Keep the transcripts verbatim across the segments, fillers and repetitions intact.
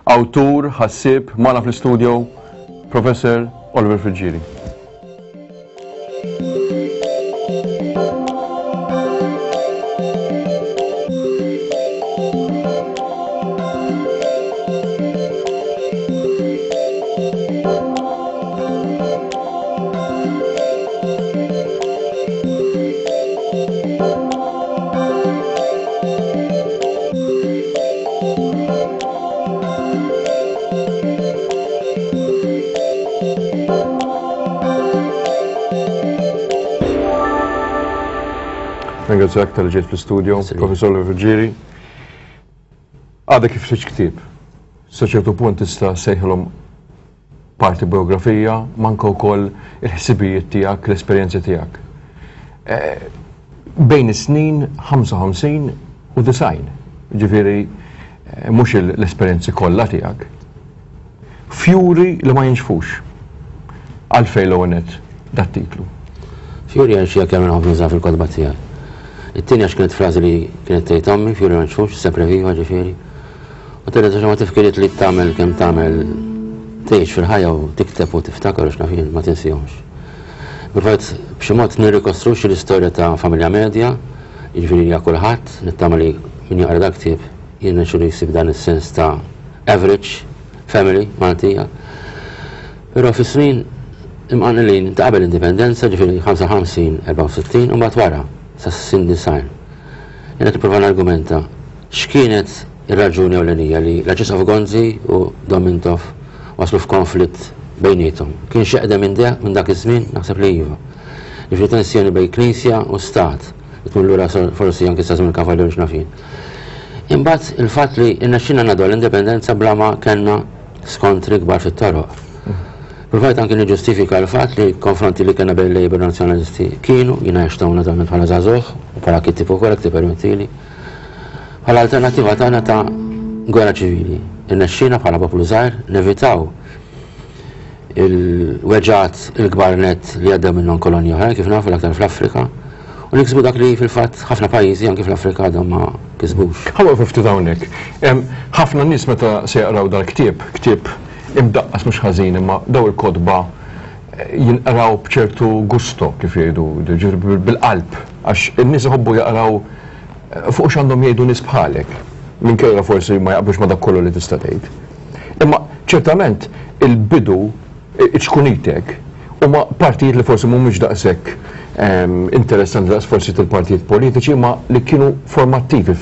Awtur, ħassieb, magħna fl-istudio, Professor Oliver Friggieri. Ringrazzjak talli ġejt fl-istudio, Professor Oliver Friggieri. Għadek kif ħriġt ktieb. Sa ċertu punt tista' sejħilhom parti biografija, manka wkoll il-ħsibijiet tiegħek, l-esperjenzi tiegħek. Bejn is-snin ħamsa u ħamsin u disgħin, ġifieri mhux l-esperjenzi kollha tiegħek. Fjuri li ma jinxfux. Għalfejn l-ewwel nett dat-titlu? Fjuri għal xi kemm nħobb nuża fil-kotba tiegħi. It-tieni għax kienet frażi li kienet tgħid ommi, fjuri ma jinxfux, sempre viva ġifieri. U telet għax ma tifkiriet li tagħmel kemm tagħmel tgħix fil-ħajja u tikteb u tiftakar u x'naf jien ma tinsihomx. Provajt b'xi mod nirrikostruxxi l-istorja ta' familja medja, jiġifieri hija kulħadd, nittama li min jaqra dak ktieb jirnexxilu jsib dan is-sens ta' average family Maltija. Però fis-snin imqanqlin ta' qabel l-indipendenza, ġifieri ħamsa u ħamsin, erbgħa u sittin, u mbagħad wara sa' sin design. Jiena tipprova nargumenta x'kienet ir-raġuni ewlenija li l-Arċisqof Gonzi u Dom Mintoff waslu f'konflitt bejniethom. Kien xeqdem minn de-, minn dak iż-żmien, naħseb li iva. Jiġifieri tensjoni bejn Knisja u Stat, li tmur lura forsi anke sa żmien il-Kavallieri x'naf jien. Imbagħad il-fatt li rnexxilna ngħaddu l-indipendenza bla ma kellna skontri kbar fit-toroq. Provajt anke niġġustifika l-fatt li konfronti li kellna bejn Labour Nazzjonalisti kienu, jiena għext hawn naturalment bħala żagħżugħ u bħala kittieb ukoll jekk tippermettili, bħala alternattiva tagħna ta' gwerra ċivili. Irnexxina bħala poplu żgħir nevitaw il-weġgħat il-kbar net li għaddew minnhom kolonji oħrajn kif nafu l-aktar fl-Afrika, u niksbu dak li fil-fatt ħafna pajjiżi anke fl-Afrika għadhom ma kisbux. Ħa waqfu ftit hawnhekk. Ħafna nies meta se jaqraw dal-ktieb, ktieb imdaqqas mhux ħażin, imma daw il-kotba jinqraw b'ċertu gusto kif jgħidu, ġifieri bil-qalb, għax in-nies iħobbu jaqraw fuq x'għandhom jgħidu nies bħalek, minkejja forsi ma jaqblux ma dak kollu li tista' tgħid. Imma ċertament il-bidu iċkunitek huma partijiet li forsi mhumiex daqshekk interessanti daqs forsi tal-partijiet politiċi, ma li kienu formattivi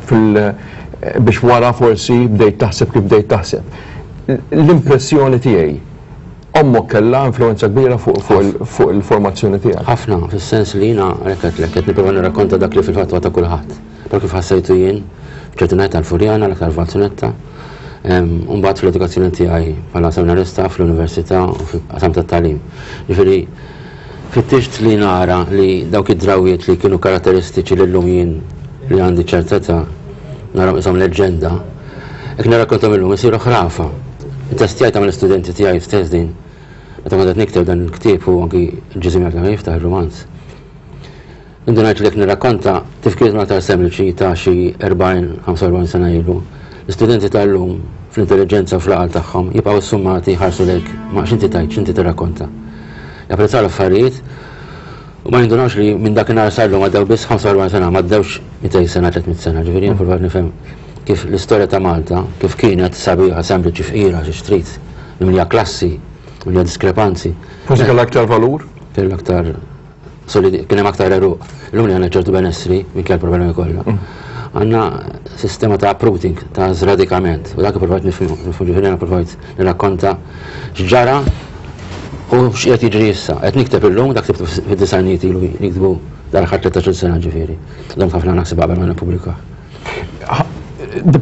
fil biex wara forsi bdejt taħseb kif bdejt taħseb. L-impressjoni tiegħi, ommok kellha influenza kbira fuq, fuq il-, fuq il-formazzjoni tiegħek. Ħafna, fis-sens li jiena għalhekk qed qed nipprova nirrakkonta dak li fil-fatt huwa ta' kulħadd. Però kif ħassejtu jien, f'ċerti ngħid tal-Furjana, l-aktar Valzunetta, u mbagħad fl-edukazzjoni tiegħi bħala seminarista fl-università u fil-qasam tat-tagħlim. Ġifieri fittixt li nara li dawk id-drawiet li kienu karatteristiċi li llum jien li għandi ċertezza naraw isom leġġenda, jekk nirrakkontom illum isiru ħrafa. Testjajt għamel studenti tiegħi stess din. Meta kont qed nikteb dan il-ktieb u anki l-ġiżim jekk jiftaħ ir-romanz. Indunajt li jekk nirrakkonta tifkir aktar sempliċi ta' xi erbgħin, ħamsa u erbgħin sena ilu. L-istudenti tal-lum fl-intelligenza u fl-għaqal tagħhom jibqgħu ssummati jħarsu lejk ma x'inti tgħid, x'inti tirrakkonta. Japprezzaw l-affarijiet u ma jindunawx li minn dakinhar sal-lum għaddew biss ħamsa u erbgħin sena, ma għaddewx mitejn sena, tliet mitt sena. Ġifieri jien provajt nifhem kif l-istorja ta' Malta, kif kienet sabiħa, sempliċi, fqira, xi trid, mimlija klassi, mimlija diskrepanzi. Forsi kellha aktar valur? Kellha aktar solidi, kien hemm aktar għeruq. Illum li għandna ċertu benessri minkejja l-problemi kollha. Għandna sistema ta' uprooting, ta' zradikament, u dak provajt nifhmu, nifhmu ġifieri jiena provajt nirrakkonta x'ġara u x'qiegħed jiġri issa. Qed nikteb illum, dak ktibtu fid-disajnijiet ilu niktbu dal-aħħar tlettax-il sena ġifieri. Dom ħafna naħseb qabel ma nippubblika.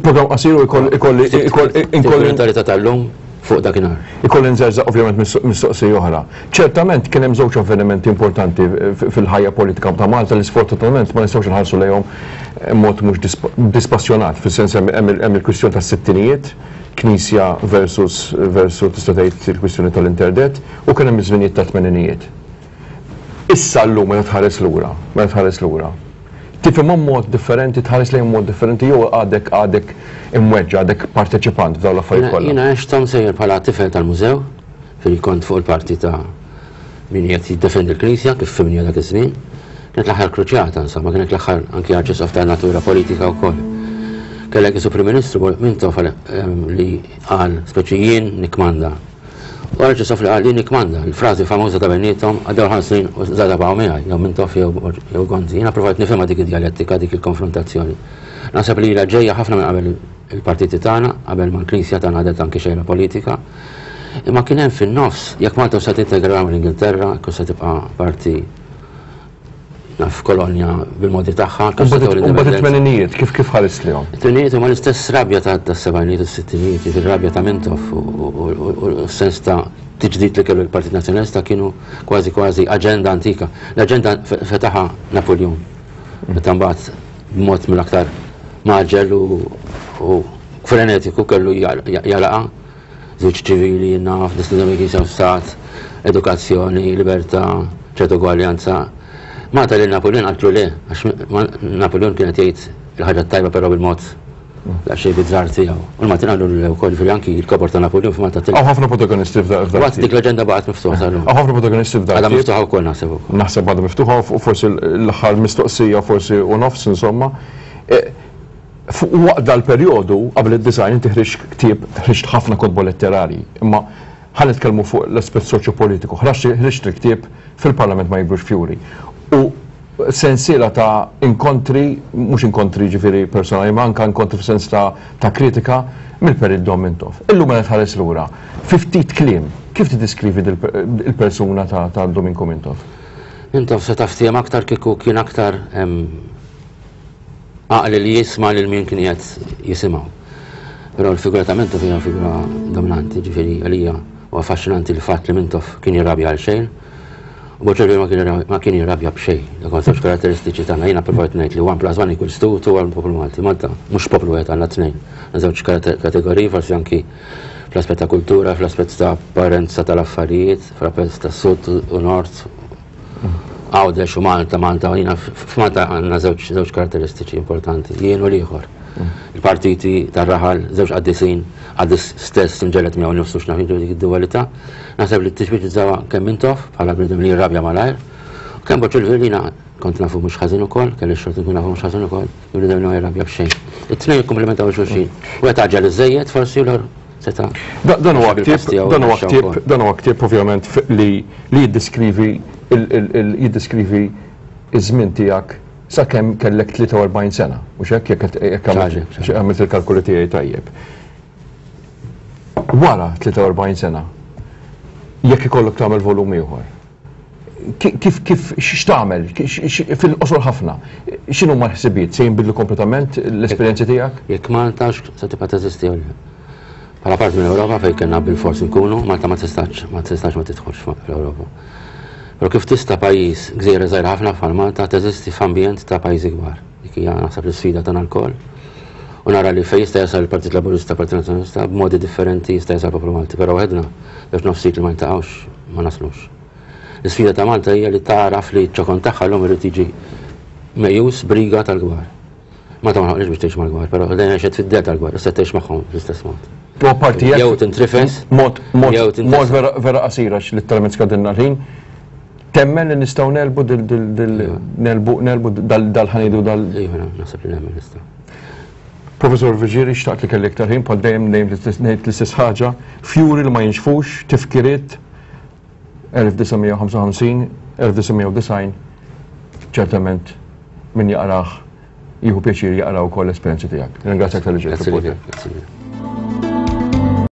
Program qasir u jkoll-, ikolli, ikolli, ikolli Mentalità tal-lum fuq dakinhar. Ikolli nżerżaq ovvjament mistoqsija oħra. Ċertament kien hemm żewġ avvenimenti importanti fil-ħajja politika ta' Malta li sfortunatament ma nistgħux inħarsu lejhom mod mhux disp-, dispassjonat, fis-sens hemm, hemm il-kwistjoni tas-sittinijiet, Knisja versus, versus tista' tgħid il-kwistjoni tal-interdet, u kien hemm iż-żminijiet tat-tmeninijiet. Issa llum meta tħares lura, meta tħares lura, Tifhimhom mod differenti, tħares lejn mod differenti, jew għadek għadek imweġġa, għadek parteċipant f'dawn l-affarijiet kollha? Jiena għexthom sejjer bħala tifel tal-mużew, fil kont fuq il-parti ta' min qed jiddefendi l-Knisja kif fimni dak iż-żmien. Kienet l-aħħar kruċjata, insomma, kienet l-aħħar anki arċisqof ta' natura politika wkoll. Kellek isu Prim Ministru Mintoff li qal speċi jien nikmanda. U arċisqof li qal jien nikmanda, il-frażi famuża ta' bejniethom għaddew ħames snin u żada baqgħu miegħi, jew Mintoff jew Gonzi. Jiena provajt nifhimha dik id-djalettika, dik il-konfrontazzjoni. Naħseb li ilha ġejja ħafna minn qabel il-partiti tagħna, qabel ma l-Knisja tagħna għadet anki xejra politika. Imma kien hemm fin-nofs, jekk Malta se tintegra mal-Ingilterra, kif se tibqa' parti naf kolonja bil-modi tagħha. U mbagħad it-tmeninijiet, kif kif ħares lihom? It-tmeninijiet huma l-istess rabja ta' tas-sebgħinijiet u s-sittinijiet, ir-rabja ta' Mintoff u s-sens ta' tiġdid li kellu l-Partit Nazzjonalista kienu kważi kważi aġenda antika. L-aġenda fetaħa Napoleon. Meta mbagħad b'mod mill-aktar maġel u frenetiku kellu jalaqa żewġ ċivili, naf, distinzjoni kien stat, edukazzjoni, libertà, ċertu ugwaljanza. Malta li Napoleon għatlu le, għax Napoleon kien qed jgħid il-ħaġa tajba però bil-mod daqsxejn bizzar tiegħu. U l-Maltin qalu le wkoll fil-anki il-kobor ta' Napoleon f'Malta tilqa. Hawn ħafna protagonisti f'dan. Waqt dik l-aġenda baqgħet miftuħa sal-lum. Hawn ħafna protagonisti f'dan. Għadha miftuħa wkoll naħseb ukoll. Naħseb għadha miftuħa u forsi l-aħħar mistoqsija forsi u nofs insomma. Waqt dal-perjodu qabel id-design inti ħriġt ktieb, ħriġt ħafna kotba letterari, imma ħa nitkellmu fuq l-aspett soċjopolitiku. Ħriġt il-ktieb Fil-Parlament ma jikbrux fjuri. U sensiela ta' inkontri, mhux inkontri ġifieri personali, ma anka inkontri f'sens ta', ta' kritika mill-Perit Dom Mintoff. Illum meta tħares lura, fi ftit kliem, kif tiddiskrivi il-persuna ta', ta' Domingo Mintoff? Mintoff se taftijem aktar kieku kien aktar għaqli li jisma' lil min kien qed jisimgħu. Però l-figura ta' Mintoff hija figura dominanti, ġifieri għalija u affaxxinanti l-fatt li Mintoff kien jirrabja għal xejn. U Boċelli ma kien jirrabja b'xejn, dak huwa żewġ karatteristiċi tagħna. Jiena provajt ngħid li one plus one equals two, two għal poplu Malti. Malta mhux poplu wieħed, għandna tnejn. Żewġ kategoriji, forsi anki fl-aspett ta' kultura, fl-aspett ta' apparenza tal-affarijiet, fl-aspett ta' sud u nord, Għawdex u Malta, Malta, jiena f'Malta għandna żewġ karatteristiċi importanti, jien u l-ieħor. Il-partiti tar-raħal, żewġ qaddisin, qaddis stess inġelet miegħu nnifsu x'naf dik id-dualità. Naħseb li t-tixbih kemm Mintoff bħala bniedem li jirrabja malajr, u kemm Boċelli li kont nafu mhux ħażin ukoll, kelli x-xorti nkun nafu mhux ħażin ukoll, bniedem li ma jirrabja b'xejn. It-tnejn jikkumplementaw xulxin. Wieħed għaġġel iżejjed forsi u l-ieħor seta'. Dan huwa ktieb, dan huwa ktieb, dan huwa ktieb ovvjament li li jiddiskrivi jiddiskrivi iż-żmien tiegħek sakemm kellek tlieta u erbgħin sena, u x'hekk jekk għamilt il-kalkoli tiegħi tajjeb. Wara tlieta u erbgħin sena, jekk ikollok tagħmel volum ieħor, kif kif x'tagħmel fil-qosor ħafna, x'inhu ma l-ħsibijiet, se jinbidlu kompletament l-esperjenzi tiegħek? Jekk Malta se tibqa' teżisti jew le. Bħala parti mill-Ewropa fejn kellna bil-fors nkunu, Malta ma tistax ma tistax ma tidħolx fl-Ewropa. Però kif tista' pajjiż gżira żgħira ħafna bħal Malta teżisti f'ambjent ta' pajjiżi kbar. Dik hija naħseb l-isfida tagħna lkoll. U nara li fejn jista' jasal il-Partit Laburista, Partit Nazzjonalista, b'modi differenti jista' jasal poplu Malti, però waħedna biex nofsit li ma jintaqgħux ma naslux. L-isfida ta' Malta hija li tagħraf li ċ-ċokon tagħha llum irid jiġi mejjus briga tal-kbar. Malta ma ħolqx biex tgħix mal-kbar, però dejjem għexet fid-del tal-kbar, issa tgħix magħhom fl-istess mod. U apparti jekk Jew tintrifes, mod, mod, jew tintrifes. mod vera, vera qasira għax literalment skadilna l-ħin. Temmen li nistgħu nelbu dil, dil, dil, nelbu, nelbu dal, dal-ħanidu dal. Iva, naħseb li nemmen nistgħu. Professor Friggieri, xtaqt li kelli iktar ħin, bħal dejjem ngħid l-istess ħaġa, fjuri li ma jinxfux, tifkiriet elf disa' mija u ħamsa u ħamsin, elf disa' mija u disgħin, ċertament min jaqrah jieħu pjaċir jaqra wkoll l-esperjenzi tiegħek. Ringrazzjak tal-li ġejt. Grazie lilek, grazie lilek.